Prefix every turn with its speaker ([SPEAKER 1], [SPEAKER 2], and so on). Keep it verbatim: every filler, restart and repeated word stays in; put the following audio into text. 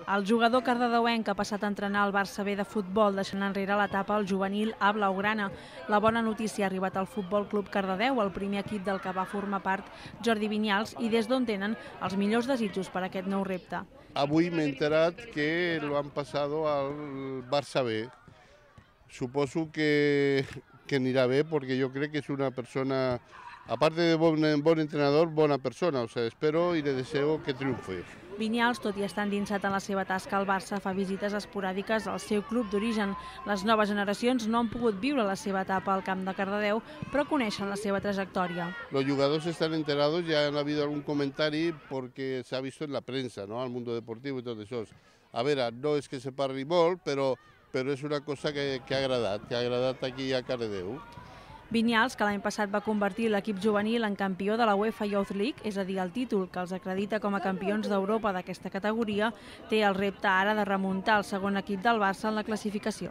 [SPEAKER 1] El jugador cardedeuenc ha passat a entrenar al Barça B de futbol, deixant enrere l'etapa al juvenil A blaugrana. La bona notícia ha arribat al Futbol Club Cardedeu, el primer equip del que va formar part Jordi Vinyals, i des d'on tenen els millors desitjos per a aquest nou repte.
[SPEAKER 2] Avui m'he enterat que lo han passado al Barça B. Suposo que, que anirà bé, perquè jo crec que és una persona, aparte de bon, bon entrenador, bona persona. O sea, espero y le deseo que triunfe.
[SPEAKER 1] Vinyals, tot i estar endinsat en la seva tasca al Barça, fa visites esporàdiques al seu club d'origen. Les noves generacions no han pogut viure la seva etapa al camp de Cardedeu, però coneixen la seva trajectòria.
[SPEAKER 2] Los jugadores están enterados, ya han habido algún comentario porque se ha visto en la prensa, ¿no? Al mundo deportivo y todo eso. A ver, no es que se parli molt, però, però és una cosa que, que ha agradat, que ha agradat aquí a Cardedeu.
[SPEAKER 1] Vinyals, que l'any passat va convertir l'equip juvenil en campió de la UEFA Youth League, és a dir, el títol que els acredita com a campions d'Europa d'aquesta categoria, té el repte ara de remuntar el segon equip del Barça en la classificació.